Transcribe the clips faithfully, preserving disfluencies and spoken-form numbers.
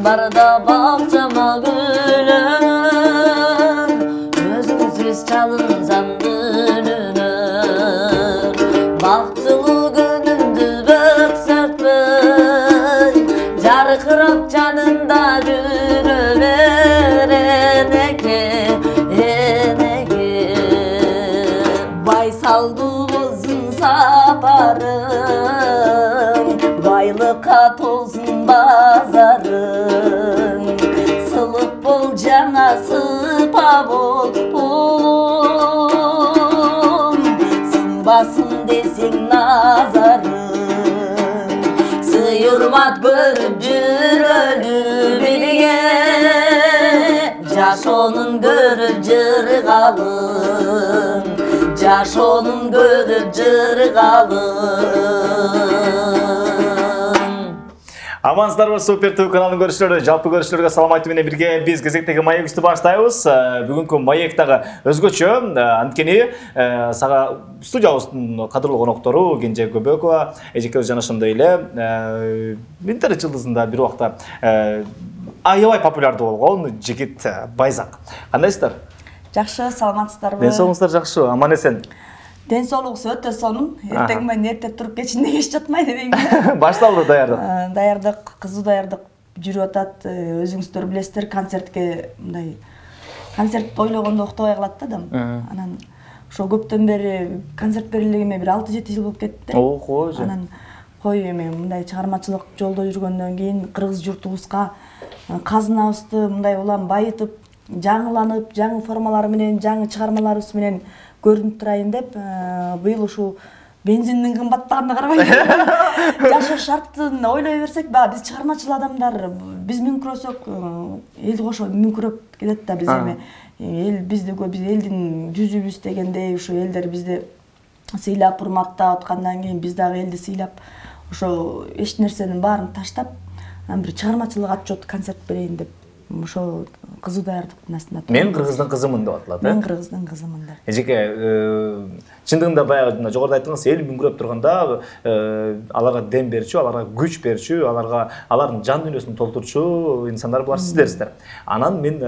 барда бакчама гүлөр өзүңсүз чалынсам дүнүнөр бактылуу күнүмдү бөксөртпөй жаркырап жанымда жүрө бер энеке энеке байсалдуу болсун сапарың байлыкка толсун базарың сылык бол жаңа сыпа бол улум сынбасын десең назарың сый урмат көрүп жүрөлү бирге жашоонун көрүп жыргалын жашоонун көрүп жыргалын. Амансыздарбы Супер ТВ каналынын көрүүчүлөрү, жалпы көрүүчүлөргө салам айтуу менен бирге биз кезектеги маектти баштайбыз. Бүгүнкү маек дагы өзгөчө. Анткени сага студиябыздын кадырлуу коноктору Кенже Көбөкова, эжекебиз жана ошондой эле интернет жылдызында бир убакта аябай популярдуу болгон жигит Байзак. Кандайсыздар? Жакшы, саламатсыздарбы? Ден соолугуңуздар жакшы, аман эсен. Ден соолугубуз өтө сонун. Эртең менен эрте туруп кечинде кеч жатмай дебейм. Башталды даярдык. Даярдык, кызуу даярдык жүрүп атат. Өзүңүздөр билесиздер, концертке мындай концерт ойлогондо октобой калат да адам. Анан ошо көптөн бери концерт берилгениме бир алты жети жыл болуп кетти. Ого. Анан кой эми мындай чыгармачылык жолдо жүргөндөн кийин кыргыз журтубузга казынабызды мындай улам байытып, жаңыланып, жаңы формалары менен, жаңы чыгармаларыбыз менен көрүнүп турайын деп, быйыл ушул бензиндин кымбаттаганына карабай жашоо шарттын ойлой берсек, баягы биз чыгармачыл адамдар, биз мүңкүрөсөк, эл кошо мүңкүрөп кетет да, биз эми эл биздиго, биз элдин жүзүбүз дегендей, ушу элдер бизди сыйлап, урматтап аткандан кийин биз дагы элди сыйлап, ошо эч нерсенин баарын таштап, бир чыгармачылык отчет концерт берейин деп ошо кызуу даярдыктын астында турдум. Мен кыргыздын кызымын деп атылат, э? Мен кыргыздын кызымын деп. Эжеке, чындыгында баягы жогоруда айттыңыз, эл мүңкүрөп турганда аларга дем берчү, аларга күч берчү, аларга алардын жан дүйнөсүн толтурчу инсандар булар сиздерсиздер. Анан мен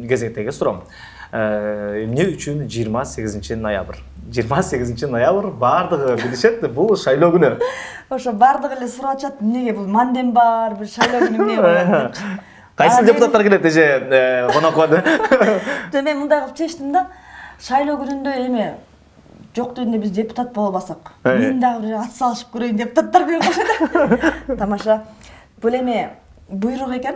кезектеги суроом. Эмне үчүн жыйырма сегизинчи ноябрь? жыйырма сегизинчи ноябрь бардыгы билишет, бул шайлоо күнү. Ошо бардыгы эле сурап атышат, эмнеге бул мандем бар, бир шайлоо күнү эмне коет деп. Кайсы депутаттар келет эже конокко? Жо мен мындай кылып чечтим да, шайлоо күнүндө эми жок дегенде биз депутат боло албасак, мен дагы бир ат салышып көрөйүн депутаттар менен кошот. Тамаша. Бул эми буйрук экен.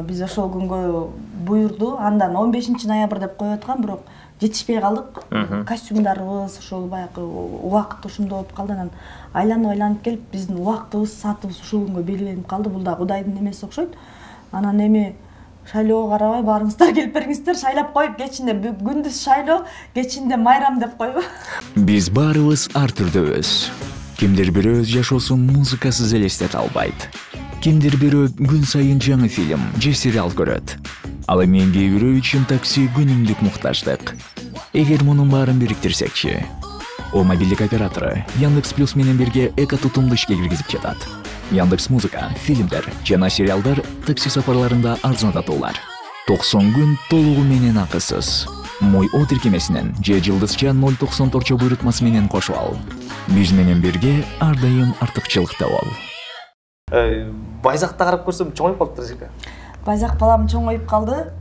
Биз ошол күнгө буйрду, андан он бешинчи ноябрь деп коюп аткан, бирок жетишпей калдык. Костюмдарыбыз ошол баягы убакыт ушундай болуп калды. Анан айланып-айланып келип, биздин убактыбыз, саатыбыз ушул күнгө белгиленип калды. Бул да Кудайдын немеси окшойт. Анан эми шайлоого карабай баарыңыздар келип бериңиздер, шайлап коюп, кечинде күндүз шайлоо, кечинде майрам деп койбу. Биз баарыбыз ар түрдөбүз. Кимдир бирөө өз жашоосун музыкасыз элестете албайт. Кимдир бирөө күн сайын жаңы фильм же сериал көрөт. Ал эми кээ бирөө үчүн такси күнүмдүк муктаждык. Эгер мунун баарын бириктирсекчи, о мобилдик оператору Яндекс Плюс менен бирге эко тутумду ишке киргизип жатат. Яндекс Музыка, фильмдер жана сериалдар такси сапарларында арзандатуулар. токсон күн толугу менен акысыз. Мой о тиркемесинен же жылдызча ноль токсон торчо буйрутмасы менен кошуп ал. Биз менен бирге ар дайым артыкчылыкта бол. Байзакты карап көрсөм чоңоюп калыптыр эжеке. Байзак балам чоңоюп калды.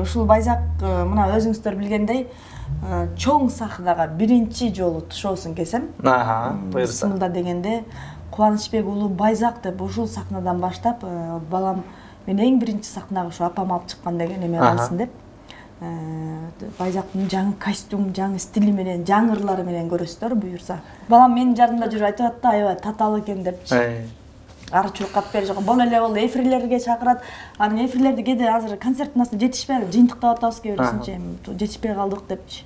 Ушул Байзак мына өзүңүздөр билгендей чоң сахнага биринчи жолу шоусун кесем. Аха, буйрса. Бисмилла дегенде Кубанычбек уулу Байзак деп ушул сахнадан баштап, балам мен эң биринчи сахнага ушу апам алып чыккан деген эме калсын деп. Байзактын жаңы костюм, жаңы стили менен, жаңы ырлары менен көрөсүздөр буюрса. Балам менин жадымда жүрүп айтып атты, аябай татаал экен депчи. Ары чуркап бери жок. Бол эле болду, эфирлерге чакырат. Анын эфирлерди кээде азыр концерттин астында жетишпей, жыйынтыктап атабыз кээ бирисинче, жетишпей калдык депчи.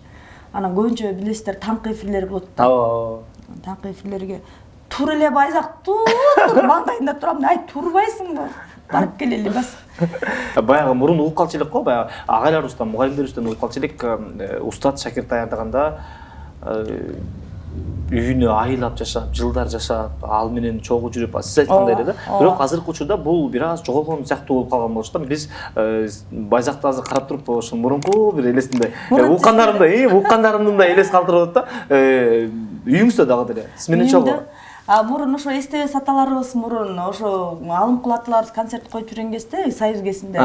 Анан көбүнчө билесиздер, таңкы эфирлер болот да. Ооба. Таңкы эфирлерге тур эле Байзак тур, маңдайында турам, ай турбайсыңбы? Барып келели бас. Баягы мурун угуп калчу элек го, баягы агайларыбыздан, мугалимдерибизден угуп калчу элек, устат шакирт даярдаганда үйүнө айылап жашап, жылдар жашап, ал менен чогуу жүрүп, сиз айткандай эле да. Бирок азыркы учурда бул бир аз жоголгон сыяктуу болуп калган болчу да. Биз Байзакты азыр карап туруп, ошо мурунку бир элесимде, уккандарымды, уккандарымды да элес калтырып атат да. Үйүңүздө дагы деле. Сиз менен чогуу. А мурун ошо эстебес аталарыбыз мурун ошо алымкул аталарыбыз концерт коюп жүргөн кезде Союз кезинде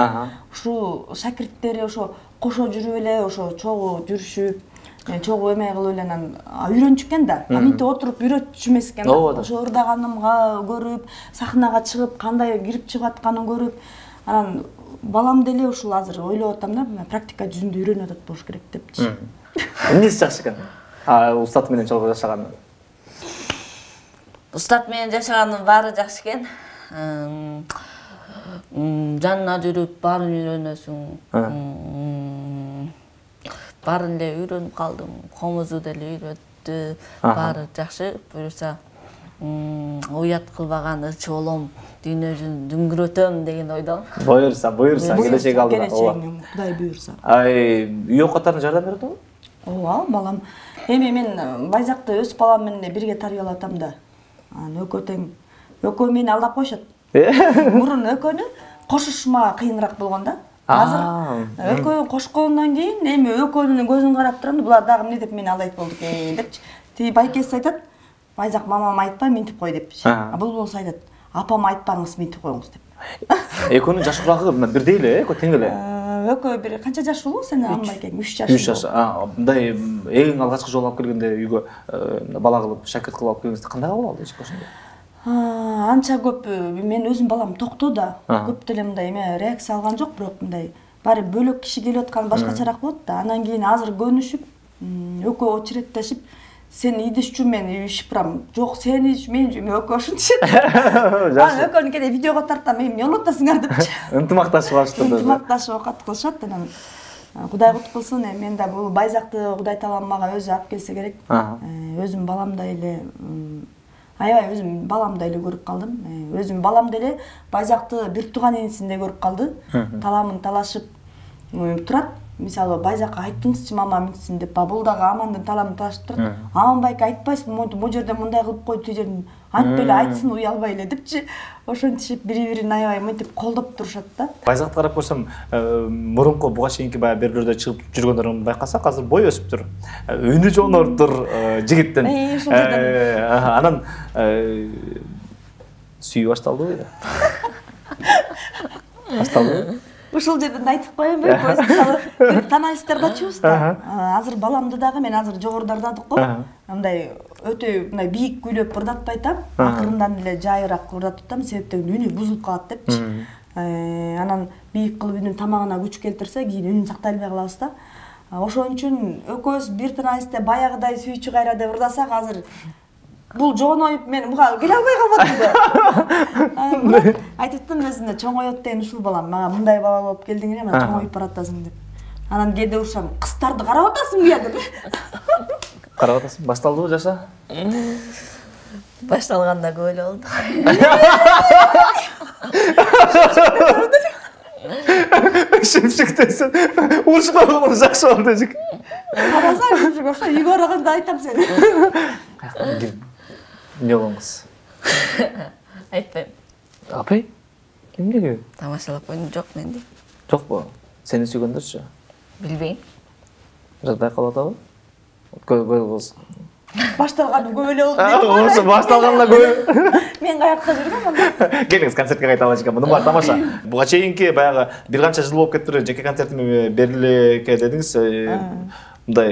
ушул шакирттери ошо кошо жүрүп эле ошо чогуу жүрүшүп, чогуу эме кылып эле анан үйрөнчү экен да. Аминтип отуруп үйрөтчү эмес экен да. Ошо ырдаганымга көрүп, сахнага чыгып, кандай кирип чыгып атканын көрүп, анан балам деле ушул азыр ойлоп атам да, практика жүзүндө үйрөнүп атат болуш керек депчи. Эмнеси жакшы экен? А устат менен чогуу жашаганы? Устат менен жашаганын баары жакшы экен. Жанына жүрүп, баарын үйрөнөсүң. Баарын эле үйрөнүп калдым. Комузу деле үйрөттү. Баары жакшы. Буюрса, уят кылбаган ырчы болом, дүйнө жүзүн дүңгүрөтөм деген ойдомун. Буюрса, буюрса, келечек алдыда. Кудай буюрса. Ай, үй окуттарына жардам берет го? Ооба, балам. Эми мен Байзакты өз балам менен бирге тарбиялап атам да. Анан экөө тең, экөө мени алдап коюшат. Мурун экөөнү кошушма кыйыныраак болгон да. Азыр экөө кошкондон кийин эми экөөнүн көзүн карап турам, булар дагы эмне деп мени алдайт болду экен депчи. Тиги байкеси айтат, Байзак мамама айтпай минтип кой депчи. А бул болсо айтат, апама айтпаңыз, минтип коюңуз деп. Экөөнүн жаш курагы бирдей эле, экөө тең эле. Экөө бир канча жаш болобу сен аммай экен? үч жаш. үч жаш. А, мындай эң алгачкы жолу алып келгенде үйгө бала кылып, шакирт кылып алып келгенде кандай кабыл алды эч ошондо? Анча көп мен өзүм балам токтоо да. Көп деле мындай эме реакция алган жок, бирок мындай баары бөлөк киши келип аткан башкачараак болот да. Андан кийин азыр көнүшүп, экөө очереттешип, сен идишчү, мен ишип барам. Жок, сен иш, мен экөө ушинтишет. Анан экөөнү кеде видеого тартам, эми эмне болуп атасыңар депчи. Ынтымакташып алышты. Ынтымакташып окат кылышат. Анан Кудай кут кылсын, мен да бул Байзакты Кудай таалам мага өзү алып келсе керек. Өзүм баламдай эле, аябай өзүм баламдай эле көрүп калдым. Өзүм баламдай эле Байзакты бир тууган инисиндей көрүп калды. Таламын талашып турат. Мисалы Байзакка айттыңызчы мама минтсин деп, бул дагы Амандын таламын талашып турат. Аман байке айтпайсың, могу жерде мындай кылып кой, тиги жерден айтпай эле, айтсын, уялбай эле депчи. Ошентип бири-бирин аябай мынтип колдоп турушат да. Байзакты карап көрсөм, мурунку буга чейинки баягы берүүлөрдө чыгып жүргөндөрүн байкасак, азыр бой өсүптүр. Үнү жонордур жигиттин. Анан сүйүү башталдыбы? Башталдыбы? Ушул жерден айтып коеюнбу? Мисалы, бир танайсыздар да чубуз да. Азыр баламды дагы мен азыр жогоруда ырдадык го. Мындай өтө мындай бийик күйлөп ырдатпай атам. Акырындан эле жайыраак ырдатып атам, себептен үнү бузулуп калат депчи. Анан бийик кылып үнүн тамагына күч келтирсе, кийин үнүн сактай албай калабыз да. Ошон үчүн экөөбүз бир танайсызда баягыдай сүйчү кайра деп ырдасак, азыр бул жооноюп мен буга келе албай калбадым да. Айтыптым өзүнө, чоңойот деген ушул балам, мага мындай бала болуп келдиң эле, мына чоңоюп баратасың деп. Анан кээде урушам, кыздарды карап атасың буя деп. Карап атасың, башталдыбы жаша? Башталганда көп эле болду. Шемшектесин, урушуп калган жакшы болду эжик. Карасаң, ошо үйгө барганда айтам сени. Эмне болгон кыз? Айтпайм. Апай? Эмнеге? Тамашалап койдум, жок менде. Жокпу? Сени сүйгөндөрчү? Билбейм. Жагдай калып атабы? Көз башталганы көп эле болду. Ошо башталганда көп. Мен каякта жүргөм анда. Келиңиз, концертке кайта алачы экен. Муну бар тамаша. Буга чейинки баягы бир канча жыл болуп кетти, жеке концертиме берилеке дедиңиз. Мындай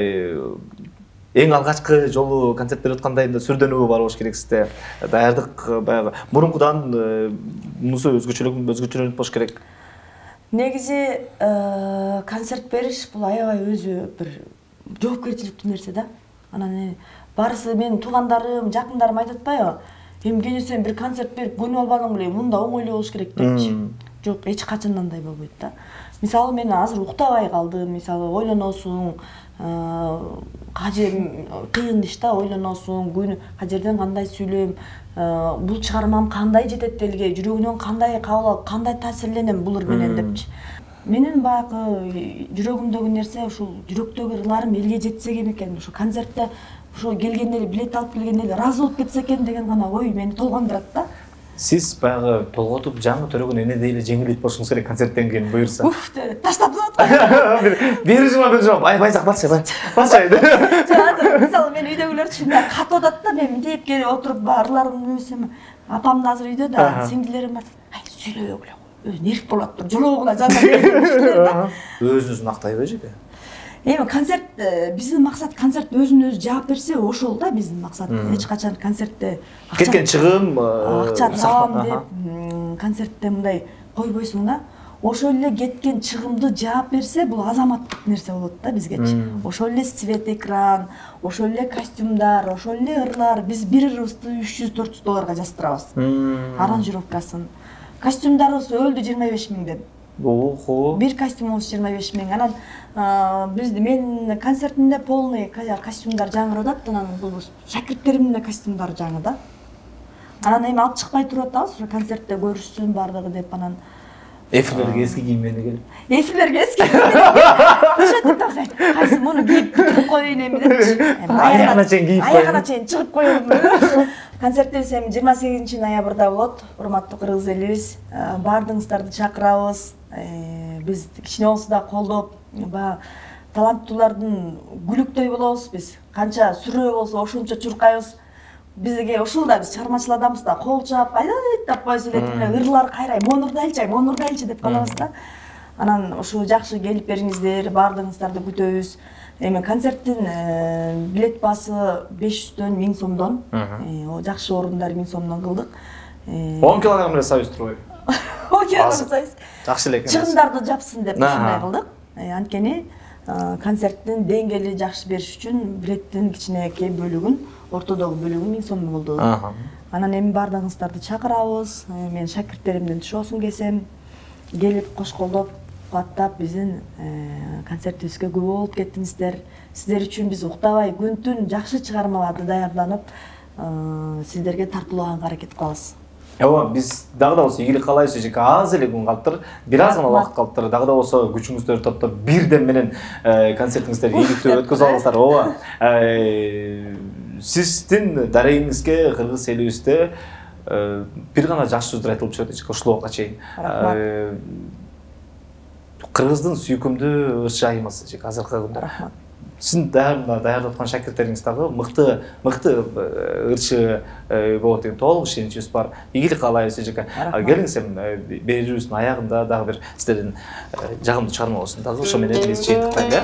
эң алгачкы жолу концерт берип аткандай сүрдөнүүбү бар болуш керек сизде. Даярдык баягы мурункудан мунусу өзгөчөлүк өзгөчөлөнүп болуш керек. Негизи концерт бериш бул аябай өзү бир жоопкерчиликтүү нерсе да. Анан барысы менин туугандарым, жакындарым айтып атпайбы? Эми кene сен бир концерт берип көнүп албадың беле, мында оңой эле болуш керек депчи. Жок, эч качан андай болбойт да. Мисалы мен азыр уктабай калдым, мисалы ойлоносуң, кажер кыйын иш да, ойлоносуң, күнү кажерден кандай сүйлөйм, бул чыгармам кандай жетет элге, жүрөгүнөн кандай кабыл алып, кандай таасирленем булар менен депчи. Менин баягы жүрөгүмдөгү нерсе ушул жүрөктөгү ырларым элге жетсе экен, ушу концертте ушул келгендер билет алып келгендер ыраазы болуп кетсе экен деген гана ой мени толгондурат да. Сиз баягы толготуп жаңы төрөгөн энедей эле жеңилдейт болушуңуз керек концерттен кийин буюрса. Уф, таштап атат. Бери жума, бери жума. Ай, байзак басчы, басчы. Мисалы мен үйдөгүлөр чынында катып атат да, мен мындеп келип отуруп баарларымды өсөм. Апам да азыр үйдө да, сиңдилерим бар. Ай, сүйлөбөгүлө. Өзү нерв болуп тур, жологуна жана. Өзүнүзүн актайбы жеке? Эми концерт биздин максат концерт өзүн өзү жаап берсе ошол да биздин максат. Эч качан концертте кеткен чыгым, акча табам деп концертте мындай койбойсуң да. Ошол эле кеткен чыгымды жаап берсе бул азаматтык нерсе болот да бизгечи. Ошол эле свет экран, ошол эле костюмдар, ошол эле ырлар. Биз бир ырыбызды үч жүз төрт жүз долларга жаздырабыз. Аранжировкасын. Костюмдарыбыз өлдү жыйырма беш миңден. Ого. Бир костюмубуз жыйырма беш миң. Анан бизди мен концертимде полный костюмдар жаңырып атат, анан бул шакирттеримдин костюмдары жаңы да. Анан эми алып чыкпай туруп атабыз, ошо концертте көрүшсүн бардыгы деп анан эфирлерге эски кийимдерди келип. Эфирлерге эски кийимдерди. Ошентип тапсай. Кайсы муну кийип туруп коеюн эми депчи. Аягына чейин кийип коеюн. Аягына чейин чыгып коеюн. Концертибиз эми жыйырма сегизинчи ноябрда болот. Урматтуу кыргыз элибиз, баардыгыңыздарды чакырабыз. Биз кичине болсо да колдоп, баягы таланттуулардын күлүктөй болобуз биз. Канча сүрөө болсо ошончо чуркайбыз. Бизге ушул да биз чыгармачыл адамбыз да, кол чаап, айдайт деп кой сүйлөтүп эле ырлар кайрай, монурдайлчы, монурдайлчы деп калабыз да. Анан ушу жакшы келип бериңиздер, баардыгыңыздарды күтөбүз. Эми концерттин билет баасы беш жүздөн миң сомдон, жакшы орундар миң сомдон кылдык. он килограмм эле сабыз турбайбы? он килограмм сабыз. Жакшы эле экен. Чыгымдарды жапсын деп ушундай кылдык. Анткени концерттин деңгээли жакшы бериш үчүн билеттин кичинекей бөлүгүн, ортодогу бөлүгүн миң сом болду. Анан эми баардыгыңыздарды чакырабыз. Мен шакирттеримден Тушоосун кесем, келип кош колдоп, кубаттап биздин концертибизге күбө болуп кеттиңиздер. Сиздер үчүн биз уктабай күн-түн жакшы чыгармаларды даярданып, сиздерге тартуулаганга аракет кылабыз. Ооба, биз дагы да болсо ийгилик каалайбыз жеке. Аз эле күн калыптыр, бир аз гана убакыт калыптыр. Дагы да болсо күчүңүздөрдү топтоп бирден менен концертиңиздерди ийгиликтүү өткөзүп алыңыздар. Ооба. Сиздин дарегиңизге кыргыз элибизде бир гана жакшы сөздөр айтылып чыгат эчке ушул убакка чейин. Кыргыздын сүйкүмдүү ырчы айымыз жеке азыркы күндө. Рахмат. Сиздин даярдап аткан шакирттериңиз дагы мыкты, мыкты ырчы болот деген толук ишеничибиз бар. Ийгилик каалайбыз жеке. Келиңиз эми берүүбүздүн аягында дагы бир сиздердин жагымдуу чыгарма болсун. Дагы ошо менен биз жыйынтыктайлы.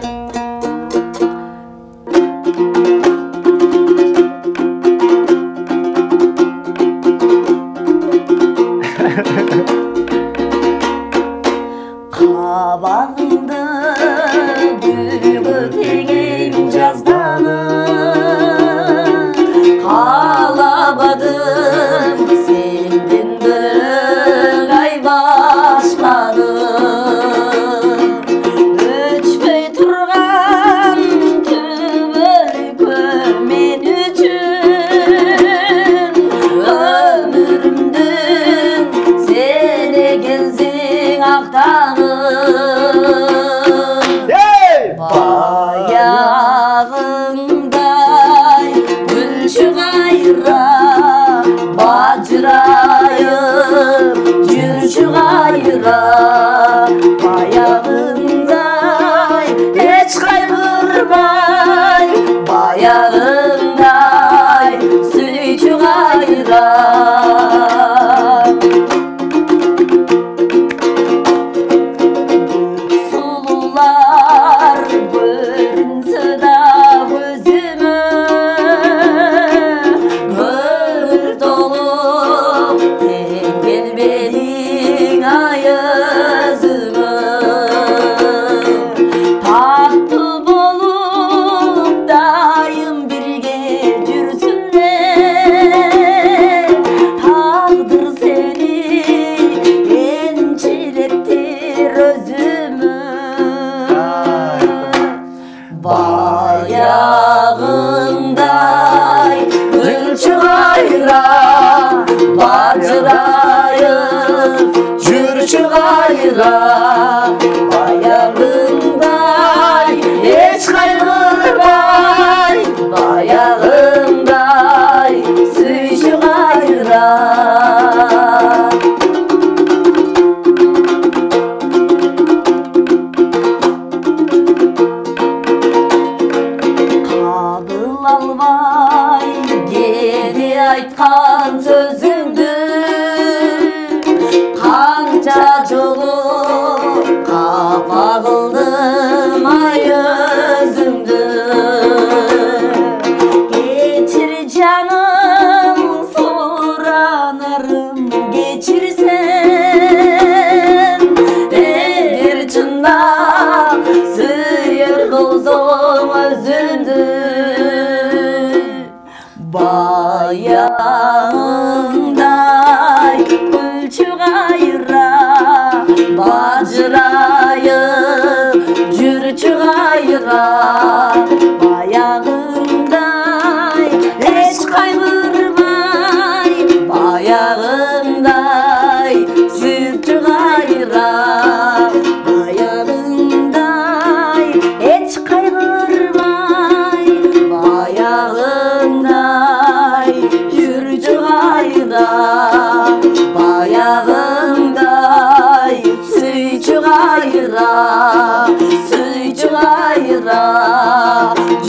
Кабагыңды гүлгө тегейм жазданы, каалабадым сенден бөлөк ай башканы. Өчпөй турган түбөлүккө мен үчүн өмүрүмдүн сен экенсиң актаны. Баягыңдай гүлчү кайра бажырайып жүрчү кайра. Баягыңдай эч кайгырбай, баягыңдай сүйчү кайра. Баягыңдай гүлчү кайра бажырайып жүрчү кайра. көрүндү баягындай гүлчү кайра бажырайып жүрчү кайра баягындай эч кайгырбай баягындай сүрчү кайра баягындай эч кайгырбай баягындай жүрчү кайра баягындай сүйчү кайра сүйчү кайра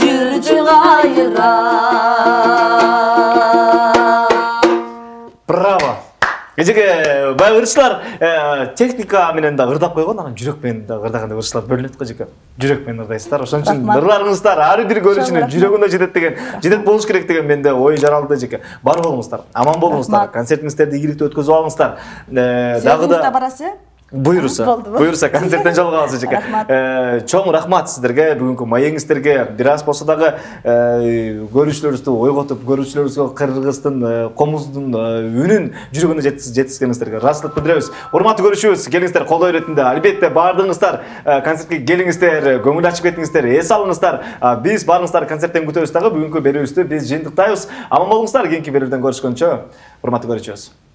жүрчү кайра. Браво. Эжеге баягы ырчылар техника менен да ырдап койгон, анан жүрөк менен да ырдаганда ырчылар бөлүнөт го эжеке. Жүрөк менен ырдайсыздар. Ошон үчүн ырларыңыздар ар бир көрүүчүнүн жүрөгүнө жетет деген, жетет болуш керек деген менде ой жаралды эжеке. Бар болуңуздар, аман болуңуздар, концертиңиздерди ийгиликтүү өткөзүп алыңыздар. Дагы да барасы? Буйруса, буйруса концерттен жолугабыз эжеке. Чоң рахмат сиздерге, бүгүнкү маегиңиздерге. Бир аз болсо дагы көрүүчүлөрүбүздү ойготуп, көрүүчүлөрүбүзгө кыргыздын, комуздун үнүн жүрөгүнө жеткизгениңиздерге ыраазычылык билдиребиз. Урматтуу көрүүчүбүз, келиңиздер колдоо иретинде. Албетте баардыгыңыздар концертке келиңиздер, көңүл ачып кетиңиздер, эс алыңыздар. Биз баарыңыздар концерттен күтөбүз дагы. Бүгүнкү берүүбүздү биз жыйынтыктайбыз. Аман болуңуздар, кийинки берүүдөн көрүшкөнчө. Урматтуу көрүүчүбүз.